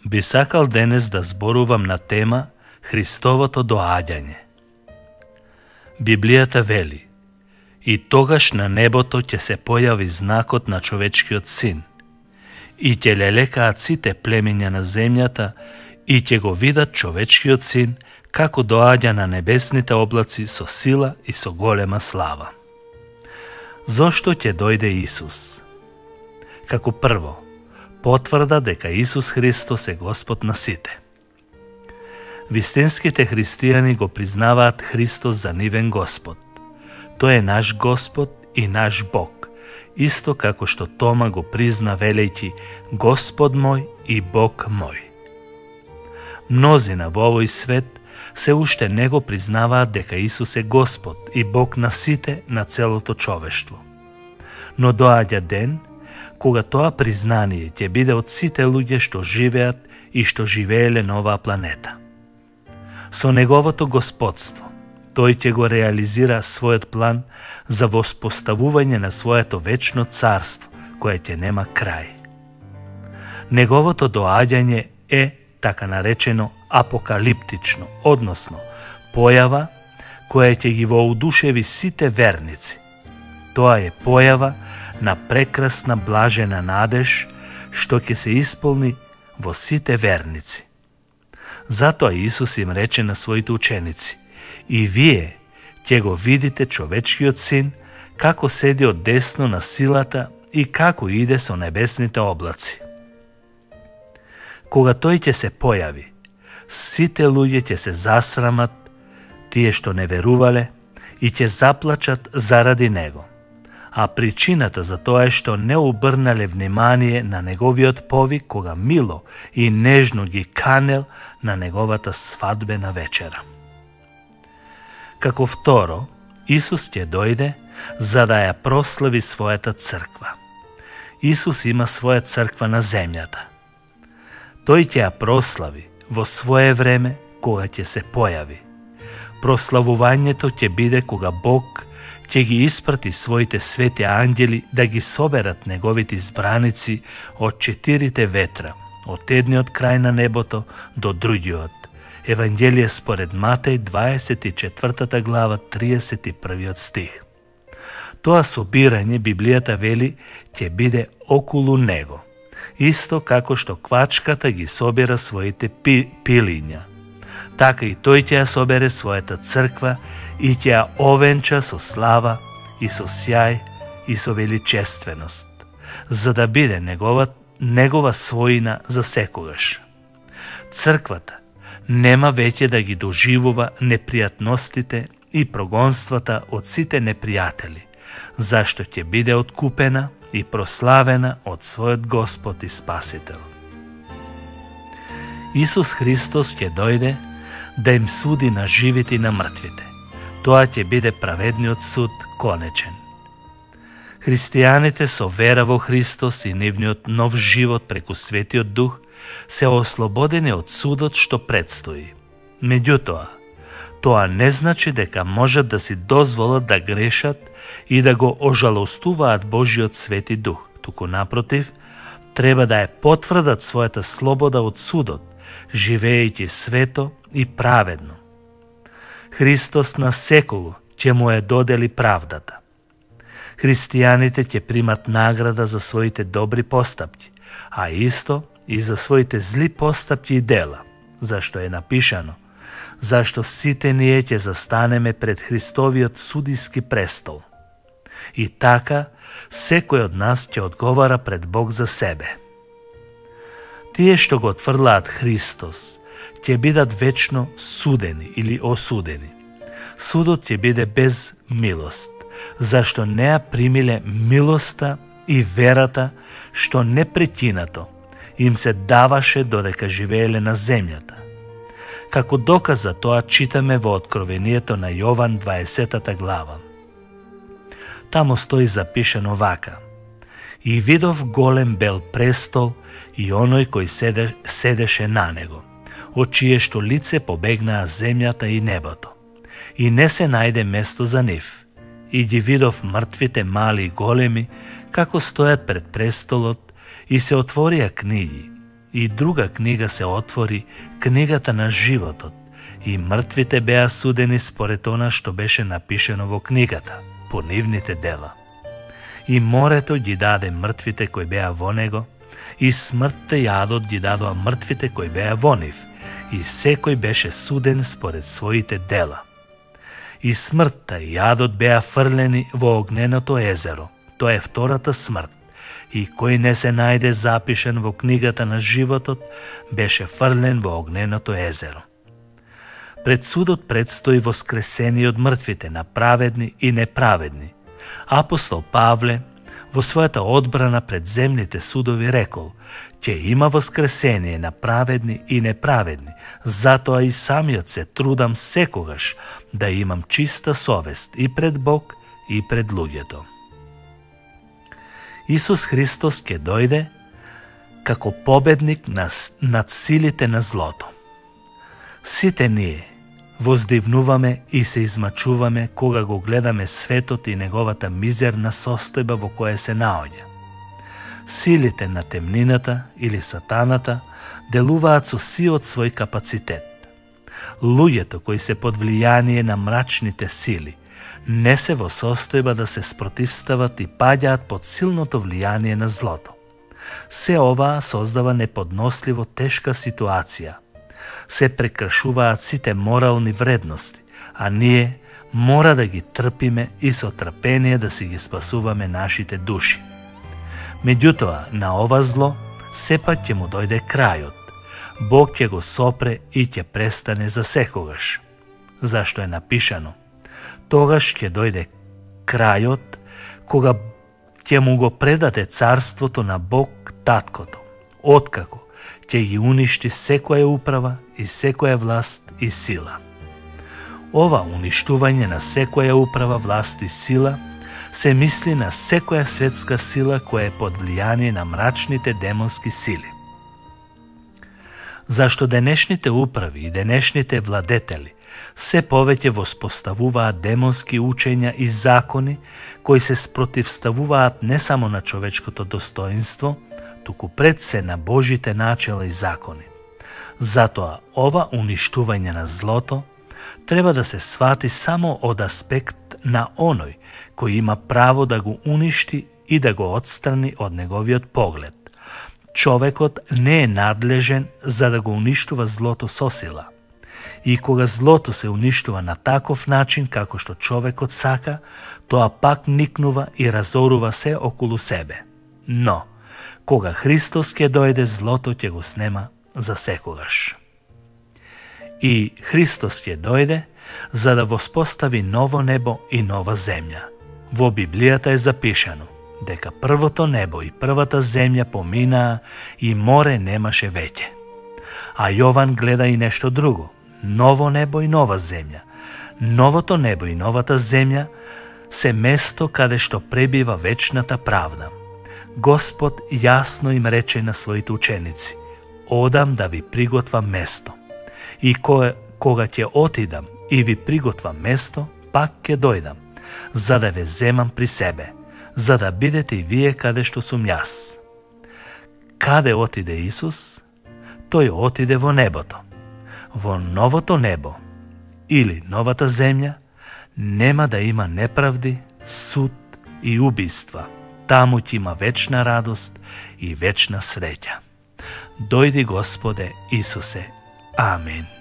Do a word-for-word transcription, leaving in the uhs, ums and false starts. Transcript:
Би сакал денес да зборувам на тема Христовото доаѓање. Библијата вели: и тогаш на небото ќе се појави знакот на човечкиот син, и ќе лелекаат сите племиња на земјата, и ќе го видат човечкиот син како доаѓа на небесните облаци со сила и со голема слава. Зошто ќе дојде Исус? Како прво, потврда дека Исус Христос е Господ на сите. Вистинските христијани го признаваат Христос за нивен Господ. Тој е наш Господ и наш Бог, исто како што Тома го призна велејќи Господ мој и Бог мој. Мнозина во овој свет се уште не го признаваат дека Исус е Господ и Бог на сите, на целото човештво. Но доаѓа ден кога тоа признание ќе биде од сите луѓе што живеат и што живееле на оваа планета. Со неговото господство, тој ќе го реализира својот план за воспоставување на своето вечно царство, кое ќе нема крај. Неговото доаѓање е така наречено апокалиптично, односно појава која ќе ги воодушеви сите верници. Тоа е појава на прекрасна блажена надеж што ќе се исполни во сите верници. Затоа Исус им рече на своите ученици: и вие ќе го видите човечкиот син како седи од десно на силата и како иде со небесните облаци. Кога тој ќе се појави, сите луѓе ќе се засрамат, тие што не верувале, и ќе заплачат заради него. А причината за тоа е што не обрнале внимание на неговиот повик кога мило и нежно ги канел на неговата свадбена вечера. Како второ, Исус ќе дојде за да ја прослави својата црква. Исус има своја црква на земјата. Тој ќе ја прослави во свое време кога ќе се појави. Прославувањето ќе биде кога Бог ќе ги испрати своите свети ангели да ги соберат неговите избраници од четирите ветра, од едниот крај на небото до другиот. Евангелие според Матеј, дваесет и четвртата глава, триесет и првиот стих. Тоа собирање, Библијата вели, ќе биде околу него, исто како што квачката ги собира своите пи, пилиња. Така и тој ќе ја собере својата црква и ќе ја овенча со слава и со сјај и со величественост, за да биде негова, негова својина за секогаш. Црквата нема веќе да ги доживува непријатностите и прогонствата од сите непријатели, зашто ќе биде откупена и прославена од својот Господ и Спасител. Исус Христос ќе дојде да им суди на живите и на мртвите. Тоа ќе биде праведниот суд конечен. Христијаните со вера во Христос и нивниот нов живот преку Светиот Дух се ослободени од судот што предстои. Меѓутоа, тоа не значи дека можат да си дозволат да грешат и да го ожалостуваат Божиот Свети Дух, туку напротив, треба да ја потврдат својата слобода од судот, живеејќи свето и праведно. Христос на секого ќе му е додели правдата. Христијаните ќе примат награда за своите добри постапки, а исто и за своите зли постапки и дела, зашто е напишано: зашто сите ние ќе застанеме пред Христовиот судиски престол. И така, секој од нас ќе одговара пред Бог за себе. Тие што го отфрлаат Христос ќе бидат вечно судени или осудени. Судот ќе биде без милост, зашто не ја примиле милоста и верата што непрекинато им се даваше додека живееле на земјата. Како доказ за тоа читаме во Откровението на Јован дваесетата глава. Тамо стои запишено вака: и видов голем бел престол и оној кој седе, седеше на него, од чие што лице побегнаа земјата и небото, и не се најде место за нив. И ги видов мртвите мали и големи, како стојат пред престолот, и се отворија книги, и друга книга се отвори, книгата на животот, и мртвите беа судени според она што беше напишено во книгата, по нивните дела. И морето ги даде мртвите кои беа во него, и смртта и адот ги дадоа мртвите кои беа во нив, и секој беше суден според своите дела. И смртта и адот беа фрлени во огненото езеро, тоа е втората смрт, и кој не се најде запишен во книгата на животот, беше фрлен во огненото езеро. Пред судот предстои воскресение од мртвите на праведни и неправедни. Апостол Павле во својата одбрана пред земните судови рекол: ќе има воскресение на праведни и неправедни, затоа и самиот се трудам секогаш да имам чиста совест и пред Бог и пред луѓето. Исус Христос ќе дојде како победник над силите на злото. Сите ние воздивнуваме и се измачуваме кога го гледаме светот и неговата мизерна состојба во која се наоѓа. Силите на темнината или сатаната делуваат со сиот свој капацитет. Луѓето кои се под влијание на мрачните сили не се во состојба да се спротивстават и паѓаат под силното влијание на злото. Се ова создава неподносливо тешка ситуација. Се прекршуваат сите морални вредности, а ние мора да ги трпиме и со трпение да си ги спасуваме нашите души. Меѓутоа, на ова зло сепак ќе му дојде крајот. Бог ќе го сопре и ќе престане за секогаш. Зашто е напишано: тогаш ќе дојде крајот, кога ќе му го предаде царството на Бог Таткото, откако ќе ги уништи секоја управа и секоја власт и сила. Ова уништување на секоја управа, власт и сила се мисли на секоја светска сила која е под влијание на мрачните демонски сили. Зашто денешните управи и денешните владетели се повеќе воспоставуваат демонски учења и закони кои се спротивставуваат не само на човечкото достоинство, туку пред се на Божите начела и закони. Затоа, ова уништување на злото треба да се свати само од аспект на оној кој има право да го уништи и да го отстрани од неговиот поглед. Човекот не е надлежен за да го уништува злото со сила. И кога злото се уништува на таков начин како што човекот сака, тоа пак никнува и разорува се околу себе. Но, кога Христос ќе дојде, злото ќе го снема за секогаш. И Христос ќе дојде за да воспостави ново небо и нова земја. Во Библијата е запишано дека првото небо и првата земја поминаа и море немаше веќе. А Јован гледа и нешто друго: ново небо и нова земја. Новото небо и новата земја се место каде што пребива вечната правда. Господ јасно им рече на своите ученици: одам да ви приготвам место. И кога, кога ќе отидам и ви приготвам место, пак ќе дојдам, за да ве земам при себе, за да бидете и вие каде што сум јас. Каде отиде Исус? Тој отиде во небото. Во новото небо или новата земја нема да има неправди, суд и убиства. Таму ќе има вечна радост и вечна среќа. Дојди Господе Исусе. Амин.